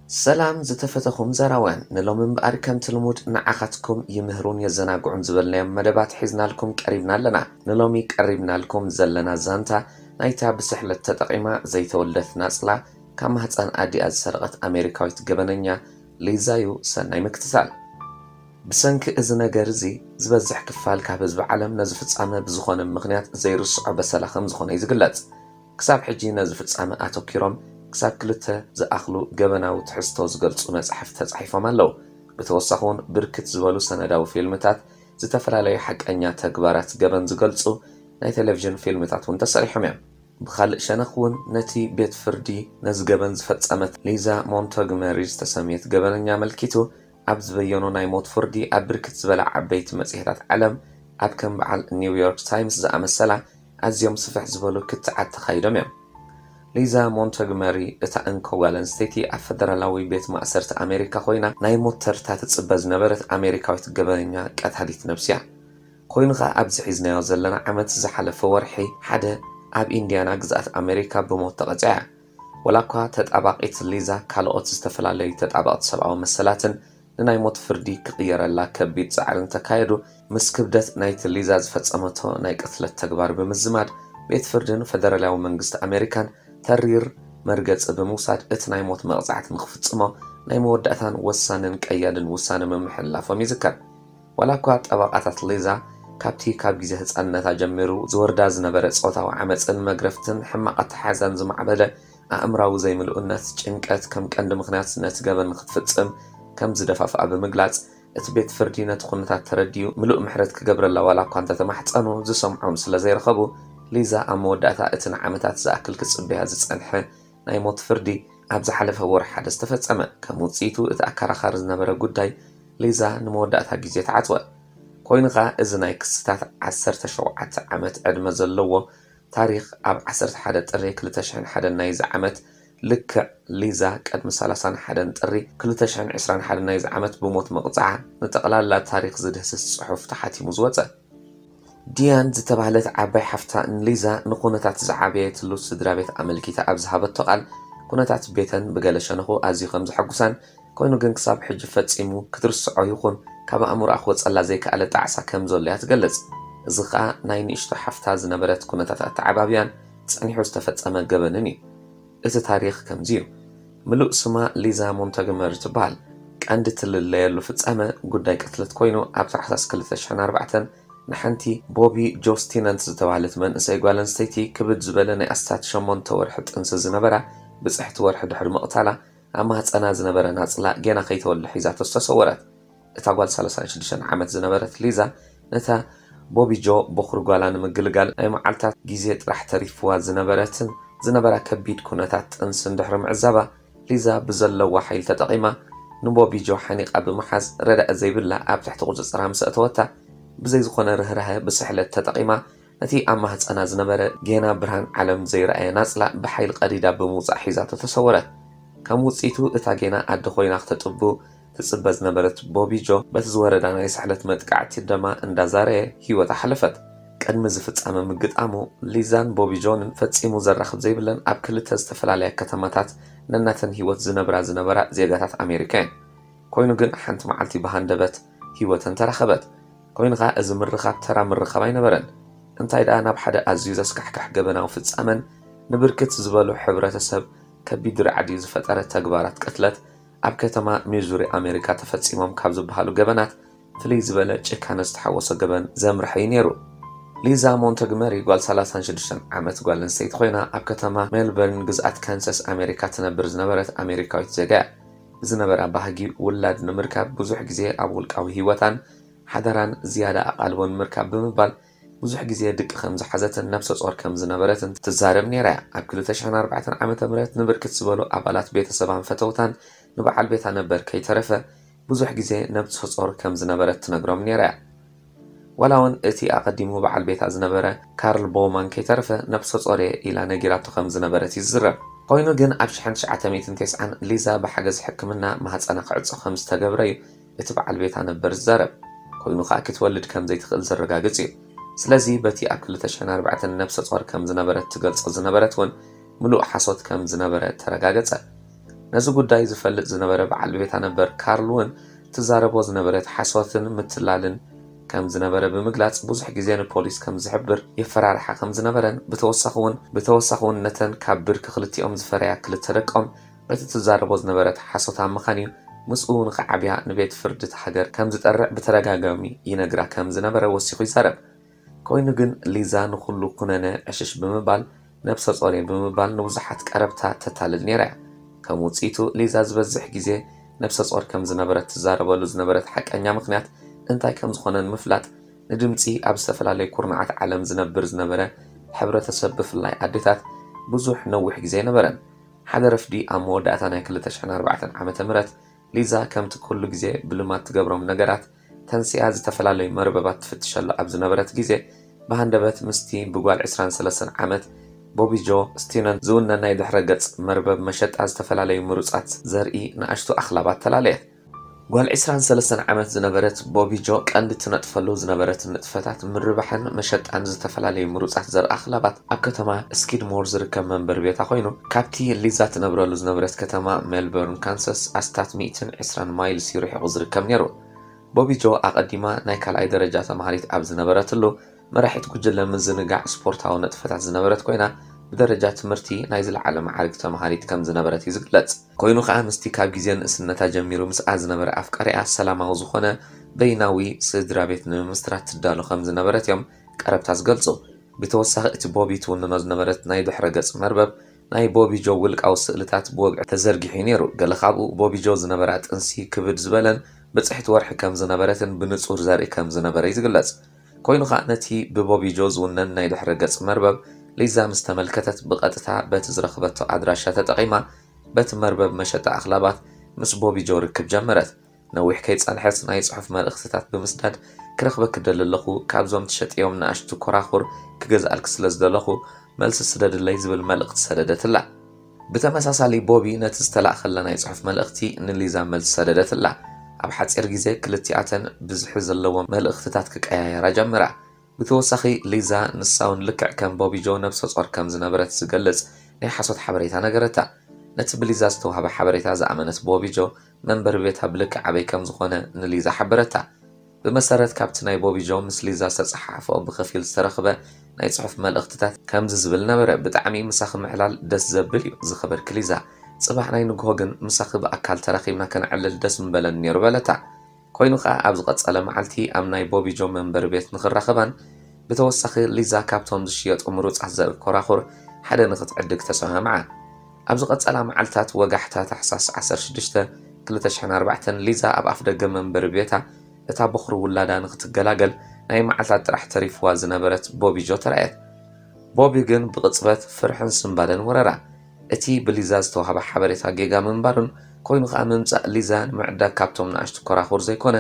ሰላም ዝተፈተኹም ዘራውያን፣ ንሎሚ እምበኣር ከምቲ ልሙድ ንዓኻትኩም ይምህሩን የዘናግዑን ዝበልናዮም መደባት ሒዝናልኩም ቀሪብና ኣለና። ንሎሚ ቀሪብናልኩም ዘለና ዛንታ ናይታ ብስሕለት ተጠቒማ ዘይተወልደት ናጽላ ካብ ማህጸን ኣዲኣ ዝሰረቐት ኣሜሪካዊት ገበነኛ ሊዛ እዩ። ሰናይ ምክትታል። ብሰንኪ እዚ ነገር እዚ ዝበዝሕ ክፋል ካብ ህዝቢ ዓለም ነዚ ፍጻመ ብዝኾነ ምኽንያት ዘይርስዖ በሰላ ከም ዝኾነ እዩ ዝግለጽ። ክሳብ ሕጂ ነዚ ፍጻመ ኣተኲሮም ክሳብ ክልተ ዝኣኽሉ ገበናዊ ትሕዝቶ ዝገልጹ መጻሕፍቲ ተጻሒፎም ኣለዉ። ብተወሳኺ እውን ብርክት ዝበሉ ሰነዳዊ ፊልምታት፣ ዝተፈላለዩ ሓቀኛ ተግባራት ገበን ዝገልጹ ናይ ቴሌቪዥን ፊልምታት እውን ተሰሪሖም እዮም። ብኻልእ ሸነኽ እውን ነቲ ቤት ፍርዲ ነዚ ገበን ዝፈጸመት ሊዛ ሞንቶግመሪ ዝተሰምየት ገበነኛ ኣመልኪቱ ኣብ ዝበየኖ ናይ ሞት ፍርዲ ኣብ ብርክት ዝበላ ዓበይቲ መጽሔታት ዓለም ኣብ ከም በዓል ኒውዮርክ ታይምስ ዝኣመሰላ ኣዝዮም ስፍሕ ዝበሉ ክትዓት ተኻይዶም እዮም። ሊዛ ሞንቶግመሪ እታ እንኮ ጓል ኣንስተይቲ ኣብ ፈደራላዊ ቤት ማእሰርቲ ኣሜሪካ ኮይና ናይ ሞት ተርታ ትጽበ ዝነበረት ኣሜሪካዊት ገበነኛ ቀታሊት ነብሲ እያ። ኮይኑ ኸኣ ኣብዚ ሒዝናዮ ዘለና ዓመት ዝሓለፈ ወርሒ ሓደ ኣብ ኢንዲያና ግዝኣት ኣሜሪካ ብሞት ተቐጺዓ እያ። ወላ እኳ ተጣባቒት ሊዛ ካልኦት ዝተፈላለዩ ተጣበቕቲ ሰብኣዊ መሰላትን ንናይ ሞት ፍርዲ ክቕየረላ ከቢድ ጻዕሪ እንተካየዱ፣ ምስ ክብደት ናይቲ ሊዛ ዝፈጸመቶ ናይ ቅትለት ተግባር ብምዝማድ ቤት ፍርድን ፈደራላዊ መንግስቲ ኣሜሪካን ተሪር መርገጺ ብምውሳድ እቲ ናይ ሞት መቕጻዕቲ ንኽፍጽሞ ናይ መወዳእታን ወሳንን ቀያድን ውሳነ ምምሕልላፎም ይዝከር። ዋላ እኳ ጠበቓታት ሊዛ ካብቲ ካብ ግዜ ህጻንነታ ጀሚሩ ዝወርዳ ዝነበረ ጾታዊ ዓመጽን መግረፍትን ሕማቕ ኣተሓሕዛን ዝማዕበለ ኣእምራዊ ዘይምልኡነት፣ ጭንቀት ከም ቀንዲ ምኽንያት ነቲ ገበን ንኽትፍጽም ከም ዝደፋፍኣ ብምግላጽ፣ እቲ ቤት ፍርዲ ነቲ ኩነታት ተረዲኡ ምሉእ ምሕረት ክገብረላ ዋላ እኳ እንተተማሕጸኑ ዝሰምዖም ስለ ዘይረኸቡ፣ ሊዛ ኣብ መወዳእታ እቲ ንዓመታት ዝኣክል ክጽበያ ዝጸንሐ ናይ ሞት ፍርዲ ኣብ ዝሓለፈ ወርሒ ሓደ ዝተፈጸመ። ከም ውጽኢቱ እቲ ኣከራኻሪ ዝነበረ ጉዳይ ሊዛ ንመወዳእታ ግዜ ተዓጽወ። ኮይኑ ኸኣ እዚ ናይ ክስታት ዓሰርተ ሸውዓተ ዓመት ዕድመ ዘለዎ ታሪኽ ኣብ ዓሰርተ ሓደ ጥሪ ክልተ ሽሕን ሓደን ናይዚ ዓመት ልክዕ ሊዛ ቅድሚ ሰላሳን ሓደን ጥሪ ክልተ ሽሕን ዕስራን ሓደን ናይዚ ዓመት ብሞት ምቕጻዓ ንጠቕላላ ታሪኽ ዝድህስስ ጽሑፍ ተሓቲሙ ዝወጸ። ዲያን ዝተባህለት ዓባይ ሓፍታ ንሊዛ ንኩነታት ዝዓበየትሉ ስድራ ቤት ኣመልኪታ ኣብ ዝሃበቶ ቃል፣ ኩነታት ቤተን ብገለ ሸነኹ ኣዝዩ ከም ዘሐጉሳን ኮይኑ ግን ክሳብ ሕጂ ፈጺሙ ክትርስዖ ይኹን ካብ ኣእምሮኣ ክወጸላ ዘይከኣለ ጣዕሳ ከም ዘሎ እያ ትገልጽ። እዚ ኸኣ ናይ ንእሽቶ ሓፍታ ዝነበረት ኩነታት ኣተዓባብያን ጸኒሑ ዝተፈጸመ ገበንን እዩ። እቲ ታሪኽ ከምዚ እዩ። ምሉእ ስማ ሊዛ ሞንተግመሪ ትበሃል። ቀንዲ ትልለየሉ ፍጻመ ጉዳይ ቅትለት ኮይኑ ኣብ ታሕሳስ ክልተ ሽሕን ኣርባዕተን ንሓንቲ ቦቢ ጆስቲነንት ዝተባህለት መንእሰይ ጓል ኣንስተይቲ ክብድ ዝበለ ናይ ኣስታት ሸሞንተ ወርሒ ጥንሲ ዝነበራ ብጽሕቲ ወርሒ ድሕሪ ምቕታላ ኣብ ማህጸና ዝነበረ ናጽላ ጌና ከይተወልደ ሒዛቶ ዝተሰወረት። እታ ጓል ሰላሳን ሽዱሽተን ዓመት ዝነበረት ሊዛ ነታ ቦቢ ጆ በኹሪ ጓላ ንምግልጋል ናይ መዓልታት ግዜ ጥራሕ ተሪፍዋ ዝነበረትን ዝነበራ ከቢድ ኩነታት ጥንስን ድሕሪ ምዕዛባ ሊዛ ብዘለዋ ሓይሊ ተጠቒማ ንቦቢ ጆ ሓኒቓ ብምሓዝ ረዳኢ ዘይብላ ኣብ ትሕቲ ቁጽጽራ ምስ ኣእተወታ ብዘይ ዝኾነ ርህራሀ ብስሕለት ተጠቒማ ነቲ ኣብ ማህጸና ዝነበረ ጌና ብርሃን ዓለም ዘይረኣየ ናጽላ ብሓይሊ ቀዲዳ ብምውጻእ ሒዛቶ ተሰወረት። ከም ውጽኢቱ እታ ጌና ኣደ ኮይና ክተጥቡ ትጽበ ዝነበረት ቦቢ ጆ በቲ ዝወረዳ ናይ ስሕለት መጥቃዕቲ ደማ እንዳዛረየ ህይወታ ሓለፈት። ቅድሚ እዚ ፍጻመ ምግጣሙ ሊዛን ቦቢ ጆንን ፈጺሙ ዘራኽብ ዘይብለን ኣብ ክልተ ዝተፈላለያ ከተማታት ነናተን ህይወት ዝነብራ ዝነበራ ዜጋታት ኣሜሪካ እየን። ኮይኑ ግን ሓንቲ መዓልቲ ብሃንደበት ህይወተን ተራኸበት። ኮይኑ ኸኣ እዚ ምርኻብ ተራ ምርኻብ ኣይነበረን። እንታይ ደኣ ናብ ሓደ ኣዝዩ ዘስካሕክሕ ገበናዊ ፍጻመን ንብርክት ዝበሉ ሕብረተሰብ ከቢድ ራዕዲ ዝፈጠረ ተግባራት ቅትለት ኣብ ከተማ ሚዙሪ ኣሜሪካ ተፈጺሞም ካብ ዝበሃሉ ገበናት ፍልይ ዝበለ ጭካነ ዝተሓወሶ ገበን ዘምርሐ እዩ ነይሩ። ሊዛ ሞንተግመሪ ጓል ሰላሳን ሽዱሽተን ዓመት ጓል ኣንስተይቲ ኮይና ኣብ ከተማ ሜልበርን ግዝኣት ካንሳስ ኣሜሪካ ትነብር ዝነበረት ኣሜሪካዊት ዜጋ እያ። ዝነበራ ባህጊ ውላድ ንምርካብ ብዙሕ ግዜ ኣብ ውልቃዊ ህይወታን ሓደራን ዝያዳ ኣቓልቦ ንምርካብ ብምባል ብዙሕ ግዜ ድቂ ከም ዝሓዘትን ነብሰ ጾር ከም ዝነበረትን ትዛረብ ነይራ እያ። ኣብ ክልተ ሽሕን ኣርባዕተን ዓመተ ምህረት ንብርክት ዝበሉ ኣባላት ቤተሰባን ፈተውታን ንበዓል ቤታ ነበር ከይተረፈ ብዙሕ ግዜ ነብሰ ጾር ከም ዝነበረት ትነግሮም ነይራ እያ። ዋላ እውን እቲ ኣቐዲሙ በዓል ቤታ ዝነበረ ካርል ቦውማን ከይተረፈ ነብሰ ጾር እየ ኢላ ነጊራቶ ከም ዝነበረት እዩ ዝዝረብ። ኮይኑ ግን ኣብ ሽሕን ትሽዓተ ሚእትን ተስዓን ሊዛ ብሓገዝ ሕክምና ማህጸና ክዕጾ ከም ዝተገብረ እዩ እቲ በዓል ቤታ ነበር ዝዛረብ። ኮይኑ ኸኣ ክትወልድ ከም ዘይትኽእል ዘረጋግጽ እዩ። ስለዚ በቲ ኣብ ክልተ ሽሕን ኣርባዕተን ነብሰ ጾር ከም ዝነበረት ትገልጾ ዝነበረት እውን ምሉእ ሓሶት ከም ዝነበረ ተረጋገጸ። ነዚ ጉዳይ ዝፈልጥ ዝነበረ በዓል ቤታ ነበር ካርል እውን ትዛረቦ ዝነበረት ሓሶትን ምትላልን ከም ዝነበረ ብምግላጽ፣ ብዙሕ ግዜ ንፖሊስ ከም ዝሕብር የፈራርሓ ከም ዝነበረን፣ ብተወሳኺ እውን ብተወሳኺ እውን ነተን ካብ ብርኪ ክልቲኦም ዝፈረያ ክልተ ደቆም በቲ ትዛረቦ ዝነበረት ሓሶት ኣመኻንዩ ምስኡ ንኽዓብያ ንቤት ፍርዲ እታ ሃገር ከም ዝጠርዕ ብተደጋጋሚ ይነግራ ከም ዝነበረ ወሲኹ ይዛረብ። ኮይኑ ግን ሊዛ ንኹሉ ኩነነ ዕሽሽ ብምባል፣ ነብሰ ጾር እየ ብምባል ንብዙሓት ቀረብታ ተታልል ነይራ እያ። ከም ውጽኢቱ፣ ሊዛ ዝበዝሕ ግዜ ነብሰ ጾር ከም ዝነበረት ትዛረበሉ ዝነበረት ሓቀኛ ምኽንያት እንታይ ከም ዝኾነ ንምፍላጥ፣ ንድምጺ ኣብ ዝተፈላለዩ ኩርናዓት ዓለም ዝነብር ዝነበረ ሕብረተሰብ፣ ብፍላይ ኣዴታት፣ ብዙሕ ነዊሕ ግዜ ኣይነበረን። ሓደ ረፍዲ ኣብ መወዳእታ ናይ ክልተ ሽሕን ኣርባዕተን ዓመተ ምህረት፣ ሊዛ ከምቲ ኩሉ ግዜ ብልማድ ትገብሮም ነገራት ተንሲኣ ዝተፈላለዩ መርበባት ትፍትሸሉ ኣብ ዝነበረት ግዜ፣ ብሃንደበት ምስቲ ብጓል ዕስራን ሰለስተን ዓመት ቦቢ ጆ ስቲነን ዝውነን ናይ ድሕረ ገጽ መርበብ መሸጣ ዝተፈላለዩ ምሩጻት ዘርኢ ንኣሽቱ ኣኽላባት ተላለየት። ጓል ዕስራን ሰለስተን ዓመት ዝነበረት ቦቢ ጆ ቀንዲ ትነጥፈሉ ዝነበረት ንጥፈታት ምርባሕን መሸጣን ዝተፈላለዩ ምሩጻት ዘርኢ ኣኽላባት ኣብ ከተማ ስኪድሞር ዝርከብ መንበሪ ቤታ ኮይኑ፣ ካብቲ ሊዛ ትነብረሉ ዝነበረት ከተማ ሜልበርን ካንሳስ ኣስታት ሚእትን ዕስራን ማይልስ እዩ ርሒቑ ዝርከብ ነይሩ። ቦቢ ጆ ኣቐዲማ ናይ ካልኣይ ደረጃ ተማሃሪት ኣብ ዝነበረትሉ፣ መራሒት ጉጅለ ምዝንጋዕ ስፖርታዊ ንጥፈታት ዝነበረት ኮይና፣ ብደረጃ ትምህርቲ ናይ ዝለዓለ መዓርግ ተማሃሪት ከም ዝነበረት እዩ ዝግለጽ። ኮይኑ ከኣ ምስቲ ካብ ግዜ ንእስነታ ጀሚሩ ምስኣ ዝነበረ ኣፍቃሪኣ ሰላማዊ ዝኾነ በይናዊ ስድራ ቤት ንምምስራት ትዳሎ ከም ዝነበረት እዮም ቀረብታ ዝገልጹ። ብተወሳኺ እቲ ቦቢ ትውንኖ ዝነበረት ናይ ድሕረ ገጽ መርበብ ናይ ቦቢ ጆ ውልቃዊ ስእልታት ብወግዒ ተዘርጊሑ እዩ ነይሩ። ገለ ካብኡ ቦቢ ጆ ዝነበራ ጥንሲ ክብድ ዝበለን ብጽሕቲ ወርሒ ከም ዝነበረትን ብንጹር ዘርኢ ከም ዝነበረ እዩ ዝግለጽ። ኮይኑ ኸኣ ነቲ ብቦቢ ጆ ዝውነን ናይ ድሕረ ገጽ መርበብ ሊዛ ምስ ተመልከተት ብቐጥታ በቲ ዝረኽበቶ ኣድራሻ ተጠቒማ በቲ መርበብ መሸጣ ኣኽላባት ምስ ቦቢ ጆ ርክብ ጀመረት። ነዊሕ ከይጸንሐስ ናይ ጽሑፍ መልእኽትታት ብምስዳድ ክረኽበኪ ደሊ ኣለኹ፣ ካብዞም ትሸጥዮም ንኣሽቱ ኮራኹር ክገዝኣልኪ ስለ ዝደለኹ መልሲ ስደድለይ ዝብል መልእኽቲ ሰደደትላ። ብተመሳሳሊ ቦቢ ነቲ ዝተላእኸላ ናይ ጽሑፍ መልእኽቲ ንሊዛ መልሲ ሰደደትላ። ኣብ ሓጺር ግዜ ክልቲኣተን ብዝሒ ዘለዎ መልእኽትታት ክቀያየራ ጀመራ። ብተወሳኺ ሊዛ ንሳ እውን ልክዕ ከም ቦቢ ጆ ነብሰ ጾር ከም ዝነበረት ዝገልጽ ናይ ሓሶት ሓበሬታ ነገረታ። ነቲ ብሊዛ ዝተዋህበ ሓበሬታ ዝኣመነት ቦቢ ጆ መንበሪ ቤታ ብልክዕ ኣበይ ከም ዝኾነ ንሊዛ ሓበረታ። ብመሰረት ካብቲ ናይ ቦቢ ጆ ምስ ሊዛ ዝተጸሓሓፈኦ ብኸፊል ዝተረኽበ ናይ ጽሑፍ መልእኽትታት ከምዚ ዝብል ነበረ፣ "ብጣዕሚ ምሳኺ ምዕላል ደስ ዘብል እዩ ዝኸበርኪ ሊዛ። ጽባሕ ናይ ንግሆ ግን ምሳኺ ብኣካል ተራኺብና ከነዕልል ደስ ምበለኒ ነይሩ" በለታ። ኮይኑ ኸኣ ኣብ ዝቐጸለ መዓልቲ ኣብ ናይ ቦቢ ጆ መንበሪ ቤት ንኽራኸባን ብተወሳኺ ሊዛ ካብቶም ዝሽየጡ ምሩጻት ዘርኢ ኮራኹር ሓደ ንኽትዕድግ ተሰማምዓ። ኣብ ዝቐጸላ መዓልታት ወጋሕታ ታሕሳስ ዓሰርተ ሽዱሽተ ክልተ ሽሕን ኣርባዕተን ሊዛ ኣብ ኣፍደገ መንበሪ ቤታ እታ በኹሪ ውላዳ ንኽትገላገል ናይ መዓልታት ጥራሕ ተሪፍዋ ዝነበረት ቦቢ ጆ ተራእየት። ቦቢ ግን ብቕጽበት ፍርሕን ስንባደን ወረራ። እቲ ብሊዛ ዝተዋህበ ሓበሬታ ጌጋ ምንባሩን ኮይኑ ኸኣ ምምጻእ ሊዛ ንምዕዳግ ካብቶም ንኣሽቱ ኮራኹር ዘይኮነ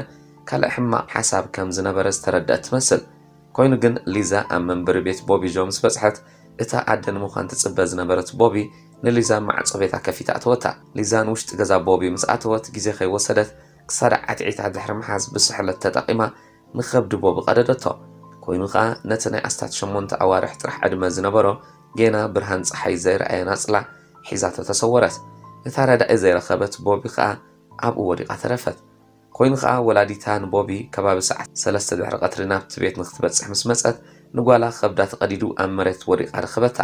ካልእ ሕማቕ ሓሳብ ከም ዝነበረ ዝተረድአት ትመስል። ኮይኑ ግን ሊዛ ኣብ መንበሪ ቤት ቦቢ ጆ ምስ በጽሐት፣ እታ ኣደ ንምዃን ትጽበ ዝነበረት ቦቢ ንሊዛ ማዕጾ ቤታ ከፊታ ኣተወታ። ሊዛ ንውሽጢ ገዛ ቦቢ ምስ ኣተወት ግዜ ከይወሰደት ክሳዳ ዓትዒታ ድሕሪ ምሓዝ ብስሕለት ተጠቒማ ንኸብዲ ቦቢ ቀደደቶ። ኮይኑ ኸኣ ነቲ ናይ ኣስታት ሸሞንተ ኣዋርሕ ጥራሕ ዕድመ ዝነበሮ ጌና ብርሃን ጸሓይ ዘይረኣየ ናጽላ ሒዛቶ ተሰወረት። እታ ረዳኢ ዘይረኸበት ቦቢ ኸኣ ኣብኡ ወዲቓ ተረፈት። ኮይኑ ኸኣ ወላዲታ ንቦቢ ከባቢ ሰዓት ሰለስተ ድሕሪ ቀትሪ ናብቲ ቤት ንኽትበጽሕ ምስ መጸት፣ ንጓላ ከብዳ ተቐዲዱ ኣብ መሬት ወዲቓ ረኸበታ።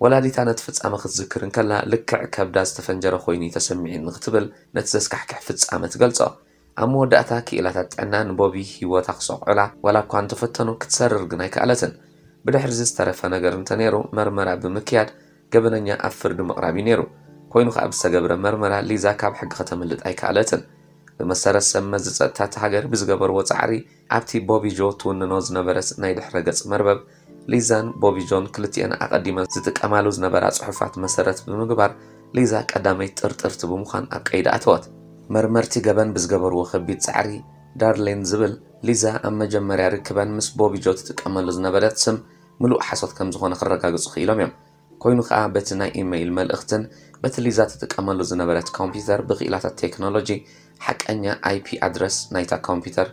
ወላዲታ ነቲ ፍጻመ ክትዝክር እንከላ፣ ልክዕ ከብዳ ዝተፈንጀረ ኮይኑ እዩ ተሰሚዑኒ ክትብል ነቲ ዘስካሕክሕ ፍጻመ ትገልጾ። ኣብ መወዳእታ ክኢላታት ጥዕና ንቦቢ ህይወታ ክሰቑዑላ ዋላ እኳ እንተፈተኑ፣ ክትሰርር ግን ኣይከኣለትን። ብድሕሪዚ ዝተረፈ ነገር እንተነይሩ መርመራ ብምክያድ ገበነኛ ኣብ ፍርዲ ምቕራብ እዩ ነይሩ። ኮይኑ ኸኣ ብዝተገብረ መርመራ ሊዛ ካብ ሕጊ ከተምልጥ ኣይከኣለትን። ብመሰረት ሰብ መዚ ጸጥታ እታ ሃገር ብዝገበርዎ ጻዕሪ ኣብቲ ቦቢ ጆ ትውንኖ ዝነበረት ናይ ድሕረ ገጽ መርበብ ሊዛን ቦቢ ጆን ክልቲኤን ኣቐዲመን ዝጥቀማሉ ዝነበራ ጽሑፋት መሰረት ብምግባር ሊዛ ቀዳመይቲ ጥርጥርቲ ብምዃን ኣብ ቀይዲ ኣተወት። መርመርቲ ገበን ብዝገበርዎ ከቢድ ጻዕሪ ዳርሊን ዝብል ሊዛ ኣብ መጀመርያ ርክበን ምስ ቦቢ ጆ ትጥቀመሉ ዝነበረት ስም ምሉእ ሓሶት ከም ዝኾነ ክረጋግጹ ክኢሎም እዮም። ኮይኑ ኸኣ በቲ ናይ ኢመይል መልእኽትን በቲ ሊዛ ትጥቀመሉ ዝነበረት ኮምፒውተር ብክኢላታት ቴክኖሎጂ ሓቀኛ ኣይፒ ኣድረስ ናይታ ኮምፒውተር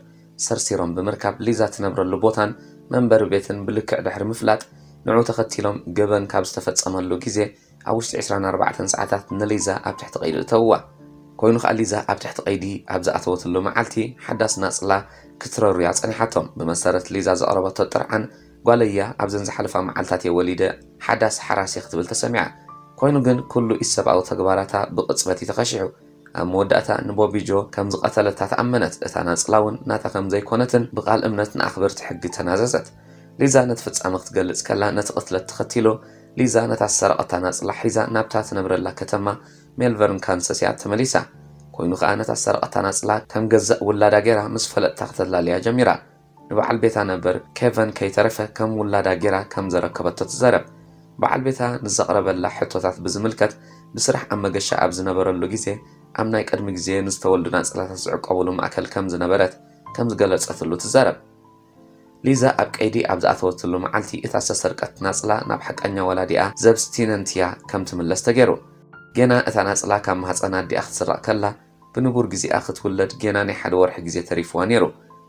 ሰርሲሮም ብምርካብ ሊዛ ትነብረሉ ቦታን መንበሪ ቤትን ብልክዕ ድሕሪ ምፍላጥ ንዑ ተኸቲሎም ገበን ካብ ዝተፈጸመሉ ግዜ ኣብ ውሽጢ ዕስራን ኣርባዕተን ሰዓታት ንሊዛ ኣብ ትሕቲ ቀይዲ እተውዋ። ኮይኑ ከኣ ሊዛ ኣብ ትሕቲ ቀይዲ ኣብ ዝኣተወትሉ መዓልቲ ሓዳስ ናጽላ ክትረሩያ ጸኒሓቶም። ብመሰረት ሊዛ ዘቕረበቶ ጥርዓን፣ ጓለያ ኣብዘን ዝሓለፋ መዓልታት እየ ወሊደ፣ ሓዳስ ሓራስ እየ ክትብል ተሰሚዓ። ኮይኑ ግን ኩሉ ኢሰብኣዊ ተግባራታ ብቕጽበት እዩ ተኸሺሑ። ኣብ መወዳእታ ንቦቢጆ ከም ዝቐተለታ ተኣመነት። እታ ናጽላ እውን ናታ ከም ዘይኮነትን ብቓል እምነት ንኣኽበርቲ ሕጊ ተናዘዘት። ሊዛ ነቲ ፍጻመ ክትገልጽ ከላ፣ ነቲ ቅትለት ተኸቲሉ ሊዛ ነታ ዝሰረቐታ ናጽላ ሒዛ ናብታ ትነብረላ ከተማ ሜልበርን ካንሰስ እያ ተመሊሳ። ኮይኑ ከኣ ነታ ዝሰረቐታ ናጽላ ከም ገዛእ ውላዳ ገይራ ምስ ፈለጥታ ክተላልያ ጀሚራ። ንበዓል ቤታ ነበር ኬቨን ከይተረፈ ከም ውላዳ ገይራ ከም ዘረከበቶ ትዛረብ። በዓል ቤታ ንዘቕረበላ ሕቶታት ብዝምልከት፣ ብስራሕ ኣብ መገሻ ኣብ ዝነበረሉ ግዜ ኣብ ናይ ቅድሚ ግዜ ንዝተወልዱ ናጽላታት ዝዕቀቡሉ ማእከል ከም ዝነበረት ከም ዝገለጸትሉ ትዛረብ። ሊዛ ኣብ ቀይዲ ኣብ ዝኣተወትሉ መዓልቲ እታ ዝተሰርቀት ናጽላ ናብ ሓቀኛ ወላዲኣ ዘብስቲነንት እያ ከም ትምለስ ተገይሩ። ጌና እታ ናጽላ ካብ ማህጸን ኣዲኣ ክትስረቕ ከላ፣ ብንቡር ግዜኣ ክትውለድ ጌና ናይ ሓደ ወርሒ ግዜ ተሪፍዋ ነይሩ።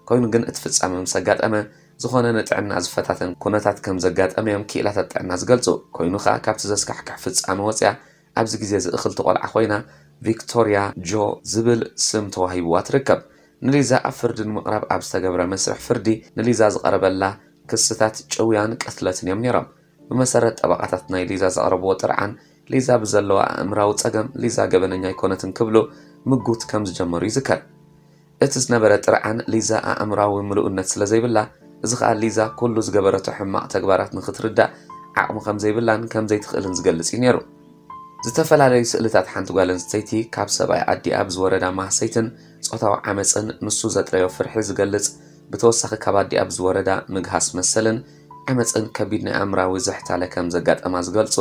ኮይኑ ግን እቲ ፍጻመ ምስ ኣጋጠመ፣ ዝኾነ ንጥዕና ዝፈታተን ኩነታት ከም ዘጋጠመ እዮም ክኢላታት ጥዕና ዝገልጹ። ኮይኑ ከኣ ካብቲ ዘስካሕክሕ ፍጻመ ወጺኣ ኣብዚ ግዜ እዚ እኽልቲ ቆልዓ ኮይና ቪክቶርያ ጆ ዝብል ስም ተዋሂብዋ ትርከብ። ንሊዛ ኣብ ፍርዲ ንምቕራብ ኣብ ዝተገብረ መስርሕ ፍርዲ ንሊዛ ዝቐረበላ ክስታት ጭውያን ቅትለትን እዮም ነይሮም። ብመሰረት ጠበቓታት ናይ ሊዛ ዘቕረብዎ ጥርዓን፣ ሊዛ ብዘለዋ ኣእምራዊ ጸገም ሊዛ ገበነኛ ኣይኮነትን ክብሉ ምጉት ከም ዝጀመሩ ይዝከር። እቲ ዝነበረ ጥርዓን ሊዛ ኣእምራዊ ምሉእነት ስለ ዘይብላ፣ እዚ ከኣ ሊዛ ኩሉ ዝገበረቶ ሕማቕ ተግባራት ንኽትርዳእ ዓቕሚ ከም ዘይብላን ከም ዘይትኽእልን ዝገልጽ እዩ ነይሩ። ዝተፈላለዩ ስእልታት ሓንቲ ጓል ኣንስተይቲ ካብ ሰብኣይ ኣዲኣ ብዝወረዳ ማህሰይትን ጾታዊ ዓመጽን ንሱ ዘጥረዮ ፍርሒ ዝገልጽ፣ ብተወሳኺ ካብ ኣዲኣ ብዝወረዳ ምግሃስ መሰልን ዓመጽን ከቢድ ናይ ኣእምራዊ ዝሕታለ ከም ዘጋጠማ ዝገልጹ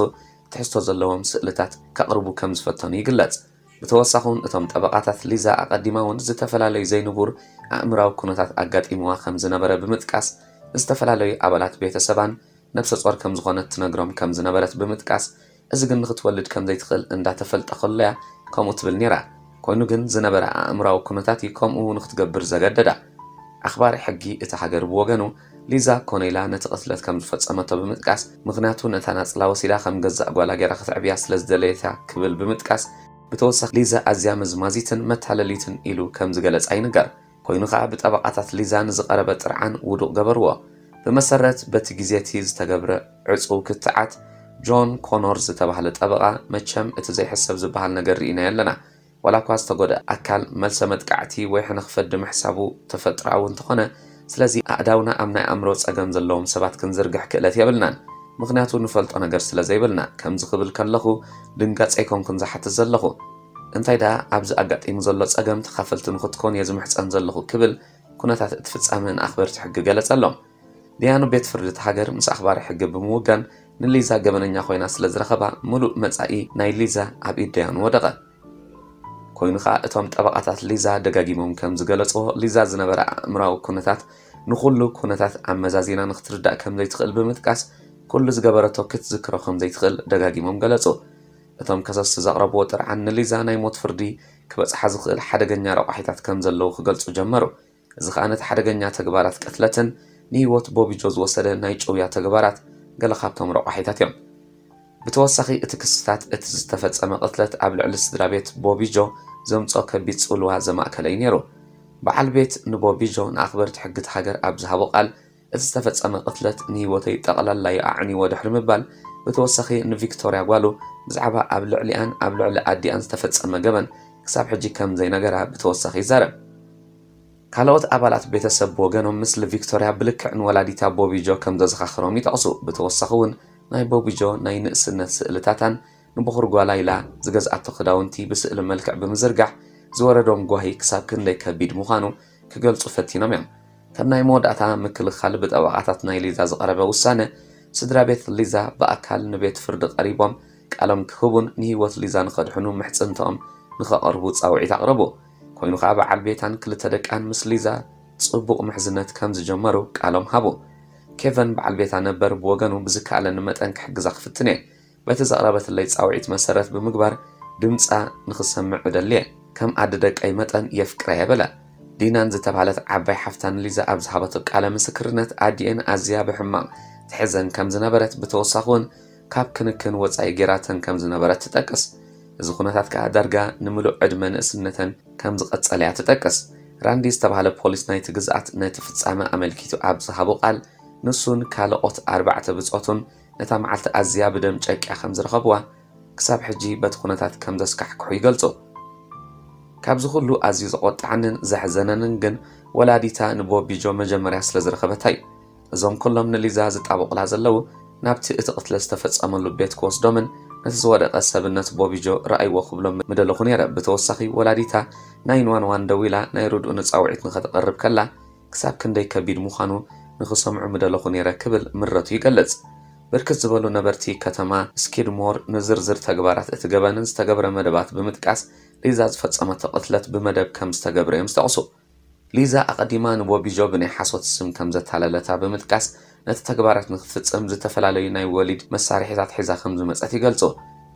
ትሕዝቶ ዘለዎም ስእልታት ከቕርቡ ከም ዝፈተኑ ይግለጽ። ብተወሳኺ እውን እቶም ጠበቓታት ሊዛ ኣቐዲማ እውን ዝተፈላለዩ ዘይንቡር ኣእምራዊ ኩነታት ኣጋጢምዋ ከም ዝነበረ ብምጥቃስ፣ ንዝተፈላለዩ ኣባላት ቤተሰባን ነብሰ ጾር ከም ዝኾነት ትነግሮም ከም ዝነበረት ብምጥቃስ፣ እዚ ግን ንኽትወልድ ከም ዘይትኽእል እንዳተፈልጠ ከሎ እያ ከምኡ ትብል ነይራ። ኮይኑ ግን ዝነበረ ኣእምራዊ ኩነታት እዩ ከምኡ ንኽትገብር ዘገደዳ። ኣኽባሪ ሕጊ እታ ሃገር ብወገኑ፣ ሊዛ ኮነ ኢላ ነቲ ቅትለት ከም ዝፈጸመቶ ብምጥቃስ፣ ምኽንያቱ ነታ ናጽላ ወሲዳ ከም ገዛእ ጓላ ገይራ ክትዕብያ ስለ ዝደለየት እያ ክብል ብምጥቃስ፣ ብተወሳኺ ሊዛ ኣዝያ መዝማዚትን መታለሊትን ኢሉ ከም ዝገለጻ ይንገር። ኮይኑ ከኣ ብጠበቓታት ሊዛ ንዝቐረበ ጥርዓን ውዱቕ ገበርዎ። ብመሰረት በቲ ግዜ እቲ ዝተገብረ ዕጹው ክትዓት፣ ጆን ኮኖር ዝተባህለ ጠበቓ፣ መቸም እቲ ዘይሕሰብ ዝበሃል ነገር ርኢናዮ ኣለና። ዋላ እኳ ዝተጎድአ ኣካል መልሰ መጥቃዕቲ ወይ ሕነ ክፈዲ ምሕሳቡ ተፈጥሮኣዊ እንተኾነ፣ ስለዚ ኣእዳውና ኣብ ናይ ኣእምሮ ጸገም ዘለዎም ሰባት ክንዝርግሕ ክእለት የብልናን፣ ምኽንያቱ ንፈልጦ ነገር ስለ ዘይብልና። ከምዚ ክብል ከለኹ ድንጋጸ ኣይኮንኩን ዝሓትት ዘለኹ። እንታይ ደኣ ኣብዚ ኣጋጢሙ ዘሎ ጸገም ተኻፈልቲ ንኽትኮኑ እየ ዝምሕጸን ዘለኹ ክብል ኩነታት እቲ ፍጻመ ንኣኽበርቲ ሕጊ ገለጸሎም። ደያኑ ቤት ፍርዲ እቲ ሃገር ምስ ኣኽባሪ ሕጊ ብምውጋን ንሊዛ ገበነኛ ኮይና ስለ ዝረኸባ፣ ምሉእ መጻኢ ናይ ሊዛ ኣብ ኢድ ደያኑ ወደቐ። ኮይኑ ኸኣ እቶም ጠበቓታት ሊዛ ደጋጊሞም ከም ዝገለጽዎ፣ ሊዛ ዝነበረ ኣእምራዊ ኩነታት ንኹሉ ኩነታት ኣመዛዚና ንኽትርዳእ ከም ዘይትኽእል ብምጥቃስ፣ ኩሉ ዝገበረቶ ክትዝክሮ ከም ዘይትኽእል ደጋጊሞም ገለጹ። እቶም ከሰስቲ ዘቕረብዎ ጥርዓን ንሊዛ ናይ ሞት ፍርዲ ክበጽሓ ዝኽእል ሓደገኛ ረቋሒታት ከም ዘለዉ ክገልጹ ጀመሩ። እዚ ኸኣ ነቲ ሓደገኛ ተግባራት ቅትለትን ንህይወት ቦቢጆ ዝወሰደ ናይ ጭውያ ተግባራት ገለ ካብቶም ረቋሒታት እዮም። ብተወሳኺ እቲ ክስታት እቲ ዝተፈጸመ ቅትለት ኣብ ልዕሊ ስድራ ቤት ቦቢጆ ዘምጽኦ ከቢድ ጽልዋ ዘማእከለ እዩ ነይሩ። በዓል ቤት ንቦቢጆ ንኣኽበርቲ ሕጊ እቲ ሃገር ኣብ ዝሃቦ ቃል፣ እቲ ዝተፈጸመ ቅትለት ንህይወተይ ጠቕላላ እዩ ኣዕንይዎ ድሕሪ ምባል፣ ብተወሳኺ ንቪክቶርያ ጓሉ ብዛዕባ ኣብ ልዕሊኣን ኣብ ልዕሊ ኣዲኣን ዝተፈጸመ ገበን ክሳብ ሕጂ ከም ዘይነገራ ብተወሳኺ ይዛረብ። ካልኦት ኣባላት ቤተሰብ ብወገኖም፣ ምስሊ ቪክቶርያ ብልክዕ ንወላዲታ ቦቢጆ ከም ዘዘኻኽሮም ይጠቕሱ። ብተወሳኺ እውን ናይ ቦቢጆ ናይ ንእስነት ስእልታታን ንበኹር ጓላ ኢላ ዝገዝኣቶ ክዳውንቲ ብስእሊ መልክዕ ብምዝርጋሕ ዝወረዶም ጓሂ ክሳብ ክንደይ ከቢድ ምዃኑ ክገልጹ ፈቲኖም እዮም። ከም ናይ መወዳእታ ምክልኻል ብጠበቓታት ናይ ሊዛ ዝቐረበ ውሳነ፣ ስድራ ቤት ሊዛ ብኣካል ንቤት ፍርዲ ቀሪቦም ቃሎም ክህቡን ንህይወት ሊዛ ንኸድሕኑ ምሕጽንትኦም ንኸቐርቡ ጻውዒት ኣቕረቡ። ኮይኑ ኸኣ በዓል ቤታን ክልተ ደቃን ምስ ሊዛ ጽቡቕ ምሕዝነት ከም ዝጀመሩ ቃሎም ሃቡ። ኬቨን በዓል ቤታ ነበር ብወገኑ፣ ብዝከኣለኒ መጠን ክሕግዛ ክፍትን እየ። በቲ ዘቕረበትለይ ጻውዒት መሰረት ብምግባር ድምጻ ንኽሰምዕ እደሊ እየ። ከም ኣደ ደቀይ መጠን የፍቅራ እየ በለ። ዲናን ዝተባህለት ዓባይ ሓፍታ ንሊዛ ኣብ ዝሃበቶ ቃለ ምስክርነት፣ ኣዲኤን ኣዝያ ብሕማቕ ትሕዘን ከም ዝነበረት፣ ብተወሳኺ እውን ካብ ክንክን ወጻኢ ጌራተን ከም ዝነበረት ትጠቅስ። እዚ ኩነታት ከኣ ዳርጋ ንምሉእ ዕድመ ንእስነተን ከም ዝቐጸለ እያ ትጠቅስ። ራንዲ ዝተባህለ ፖሊስ ናይቲ ግዝኣት ነቲ ፍጻመ ኣመልኪቱ ኣብ ዝሃቦ ቃል፣ ንሱን ካልኦት ኣርባዕተ ብጾቱን ነታ መዓልቲ ኣዝያ ብደም ጨቂያ ከም ዝረኸብዋ፣ ክሳብ ሕጂ በቲ ኩነታት ከም ዘስካሕክሑ ይገልጹ። ካብዚ ኩሉ ኣዝዩ ዘቖጥዓንን ዘሕዘነንን ግን፣ ወላዲታ ንቦቢጆ መጀመርያ ስለ ዝረኸበታ እዩ። እዞም ኩሎም ንሊዛ ዝጣበቑላ ዘለዉ፣ ናብቲ እቲ ቅትለት ዝተፈጸመሉ ቤት ክወስዶምን ነቲ ዝወደቐ ሰብነት ቦቢጆ ረኣይዎ ክብሎም ምደለኹ ነይረ። ብተወሳኺ፣ ወላዲታ ናይን ዋን ዋን ደዊላ ናይ ርድኡ ንጻውዒት ንኸተቕርብ ከላ፣ ክሳብ ክንደይ ከቢድ ምዃኑ ንኽሰምዑ ምደለኹ ነይረ ክብል ምረቱ ይገልጽ። ብርክት ዝበሉ ነበርቲ ከተማ ስኪድሞር ንዝርዝር ተግባራት እቲ ገበንን ዝተገብረ መደባት ብምጥቃስ፣ ሊዛ ዝፈጸመቶ ቅትለት ብመደብ ከም ዝተገብረ እዮም ዝጠቕሱ። ሊዛ ኣቐዲማ ንቦቢጆ ብናይ ሓሶት ስም ከም ዘታለለታ ብምጥቃስ፣ ነቲ ተግባራት ንክትፍጽም ዝተፈላለዩ ናይ ወሊድ መሳርሒታት ሒዛ ከም ዝመጸት ይገልጹ።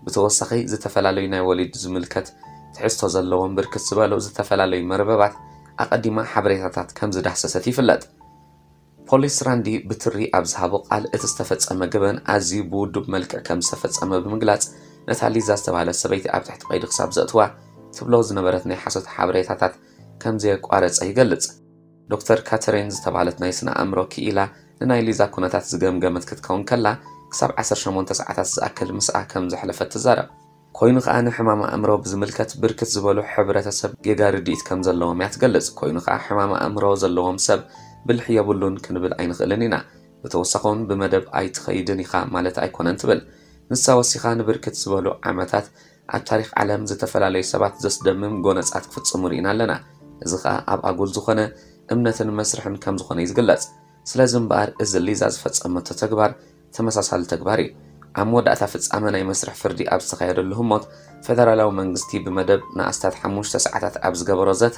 ብተወሳኺ፣ ዝተፈላለዩ ናይ ወሊድ ዝምልከት ትሕዝቶ ዘለዎም ብርክት ዝበሉ ዝተፈላለዩ መርበባት ኣቐዲማ ሓበሬታታት ከም ዝዳህሰሰት ይፍለጥ። ፖሊስ ራንዲ ብትሪ ኣብ ዝሃቦ ቃል፣ እቲ ዝተፈጸመ ገበን ኣዝዩ ብውዱብ መልክዕ ከም ዝተፈጸመ ብምግላጽ፣ ነታ ሊዛ ዝተባህለት ሰበይቲ ኣብ ትሕቲ ቀይዲ ክሳብ ዘእትዋ ትብሎ ዝነበረት ናይ ሓሶት ሓበሬታታት ከም ዘየቋረጸ ይገልጽ። ዶክተር ካተሪን ዝተባህለት ናይ ስነ ኣእምሮ ክኢላ ንናይ ሊዛ ኩነታት ዝገምገመት ክትከውን ከላ፣ ክሳብ ዓሰርተ ሸሞንተ ሰዓታት ዝኣክል ምስኣ ከም ዘሕለፈት ትዛረብ። ኮይኑ ከኣ ንሕማም ኣእምሮ ብዝምልከት ብርክት ዝበሉ ሕብረተሰብ ጌጋ ርድኢት ከም ዘለዎም እያ ትገልጽ። ኮይኑ ከኣ ሕማም ኣእምሮ ዘለዎም ሰብ ብልሒ የብሉን ክንብል ኣይንኽእልን ኢና። ብተወሳኺ እውን ብመደብ ኣይትኸይድን ኢኻ ማለት ኣይኮነን ትብል። ንሳ ወሲኻ ንብርክት ዝበሉ ዓመታት ኣብ ታሪኽ ዓለም ዝተፈላለዩ ሰባት ዘስደምም ጎነጻት ክፍጽሙ ርኢና ኣለና። እዚ ከኣ ኣብ ኣጉል ዝኾነ እምነትን መስርሕን ከም ዝኾነ እዩ ዝግለጽ። ስለዚ እምበኣር እዚ ሊዛ ዝፈጸመቶ ተግባር ተመሳሳሊ ተግባር እዩ። ኣብ መወዳእታ ፍጻመ ናይ መስርሕ ፍርዲ ኣብ ዝተኻየደሉ ህሞት፣ ፈደራላዊ መንግስቲ ብመደብ ንኣስታት ሓሙሽተ ሰዓታት ኣብ ዝገበሮ ዘተ፣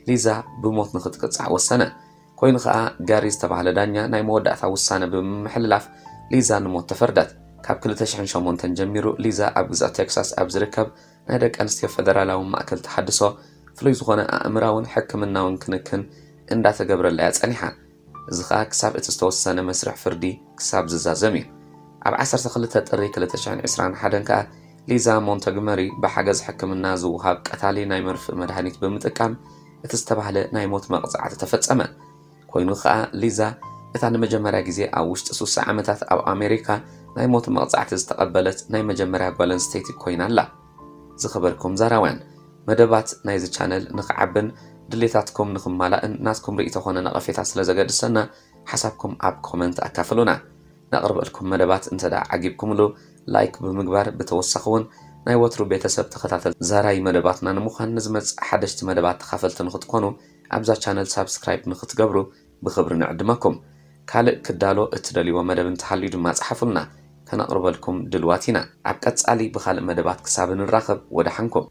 ሊዛ ብሞት ንኽትቅጻዕ ወሰነ። ኮይኑ ከኣ፣ ጋሪ ዝተባህለ ዳኛ ናይ መወዳእታ ውሳነ ብምምሕልላፍ፣ ሊዛ ንሞት ተፈርደት። ካብ ክልተ ሽሕን ሸሞንተን ጀሚሩ፣ ሊዛ ኣብ ግዝኣት ቴክሳስ ኣብ ዝርከብ ናይ ደቂ ኣንስትዮ ፈደራላዊ ማእከል ተሓድሶ፣ ፍሉይ ዝኾነ ኣእምራውን ሕክምናውን ክንክን እንዳተገብረላ እያ ጸኒሓ። እዚ ኸኣ ክሳብ እቲ ዝተወሰነ መስርሕ ፍርዲ ክሳብ ዝዛዘም እዩ። ኣብ ዓሰርተ ክልተ ጥሪ ክልተ ሽሕን ዕስራን ሓደን ከኣ፣ ሊዛ ሞንተግመሪ ብሓገዝ ሕክምና ዝወሃብ ቀታሊ ናይ መርፍእ መድሃኒት ብምጥቃም፣ እቲ ዝተባህለ ናይ ሞት መቕጻዕቲ ተፈጸመ። ኮይኑ ኸኣ፣ ሊዛ እታ ንመጀመርያ ግዜ ኣብ ውሽጢ ሱሳ ዓመታት ኣብ ኣሜሪካ ናይ ሞት መቕጻዕቲ ዝተቐበለት ናይ መጀመርያ ጓል ኣንስተይቲ ኮይና ኣላ። ዝኸበርኩም ዛራውያን፣ መደባት ናይዚ ቻነል ንኽዓብን ድሌታትኩም ንኽማላእን ናትኩም ርእይቶ ኾነ ነቐፌታ ስለ ዘገድሰና፣ ሓሳብኩም ኣብ ኮመንት ኣካፍሉና። ነቕርበልኩም መደባት እንተ ደኣ ዓጊብኩምሉ፣ ላይክ ብምግባር፣ ብተወሳኺ እውን ናይ ወትሩ ቤተሰብ ተኸታተል ዛራይ መደባትና ንምዃን፣ ንዝመጽእ ሓደሽቲ መደባት ተኻፈልቲ ንኽትኮኑ፣ ኣብዛ ቻነል ሳብስክራይብ ንኽትገብሩ ብኽብሪ ንዕድመኩም። ካልእ ክዳሎ እትደልይዎ መደብ እንተሃልዩ ድማ ጸሓፉልና፣ ከነቕርበልኩም ድልዋት ኢና። ኣብ ቀጻሊ ብኻልእ መደባት ክሳብ ንራኸብ፣ ወደሓንኩም።